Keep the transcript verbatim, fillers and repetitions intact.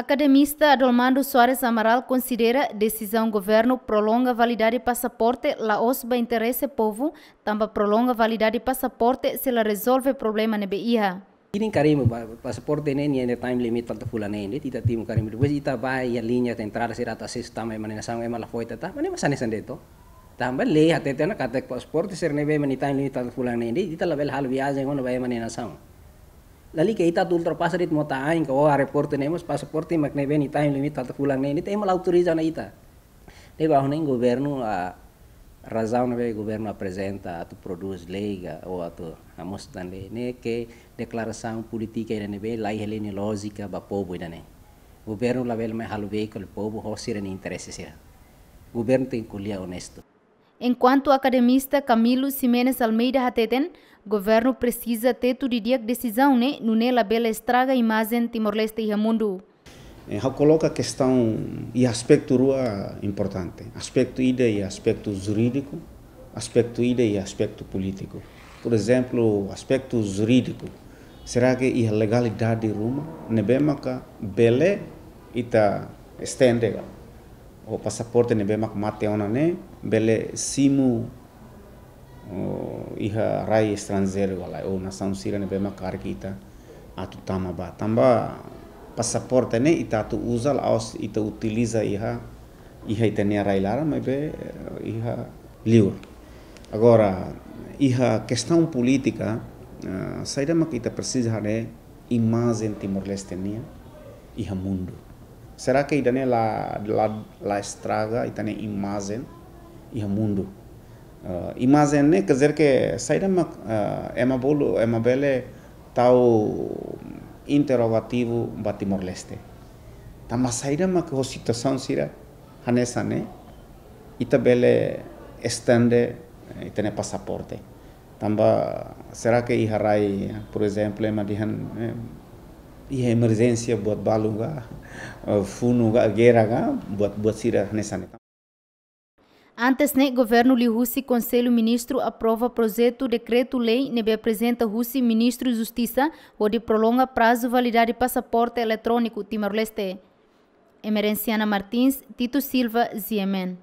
Akademista Adolmando Soares Amaral konsidera desizaun governu prolonga validade pasaporte la'ós ba interese povu, tanba prolonga validade pasaporte sei la rezolve problema ne'ebé iha. Ita-nia karimbu ba pasaporte ne'e nia time limit falta fulan neen de'it, ita timur karimbu. Depois ita ba iha liña de entrada sira atu asesu tama ema nia nasaun, ema la fó ita tama, ne'e mak hanesan de'it. Tanba lei hatete ona katak pasaporte sira ne'ebé ema nia time limit falta fulan neen de'it, ita labele halo viajen ona ba ema nia nasaun. Lalika ita atu ultrapasa de'it mota ain ka o aeroportu ne'e mós pasaporte mak ne'ebé nia time limit falta fulan neen de'it, ema la autoriza ona ita. Ne'ebé ha'u hanoin governu, ah, razaun ne'ebé governu aprezenta atu prodús lei ka ou atu hamosu tan lei ne'e ke deklarasaun polítika ida ne'ebé la iha lójika ba povu ida-ne'e. Governu labele mai halo veíkulu povu ho sira-nia interese sira. Governu tenke ko'alia onestu. Enkuantu akademista Camilo Ximenes Almeida hateten, governu presiza tetu didi'ak desizaun ne'e, nune'e labele estraga imajen Timor-Leste iha mundu. Eh, ha'u koloka kestaun iha aspetu rua importante. Aspetu ida iha aspetu jurídiku, aspetu ida iha aspetu polítiku. Por ezemplu, aspetu jurídiku, será ke iha legalidade ruma ne'ebé maka bele ita estende ka? Ou pasaporte ne'ebé mak mate ona ne'e bele simu, oh, iha rai estranjeiru ka lae, ou nasaun sira ne'ebé mak karik ita atu tama ba. Tanba pasaporte ne'e ita atu uza la'ós ita utiliza iha, iha ita-nia rai laran, maibé, eh, iha liur. Agora, iha kestaun polítika, eh, saida mak ita presiza haree imajen Timor-Leste nian iha mundu. Será ke ida-ne'e la, la, la estraga ita-nia imajen iha mundu? Eh, imajen ne'e, quer dizer ke saida mak, eh, ema bolu, ema bele tau interrogativu ba Timor-Leste. Tanba saida mak ho situasaun sira hanesan ne'e, ita bele estende, eh, ita-nia pasaporte. Tanba será ke iha rai, por ezemplu, ema dehan, eh, iha emerjénsia buat balu ka, eh, funu ka, gera ka, buat, buat sira hanesan ne'e. Antes ne'e, governu liuhusi Konsellu Ministru aprova projetu dekretu-lei ne'ebé aprezenta husi Ministru Justisa hodi prolonga prazu validade pasaporte eletróniku Timor-Leste. Emerenciana Martins, Tito Silva, G M N.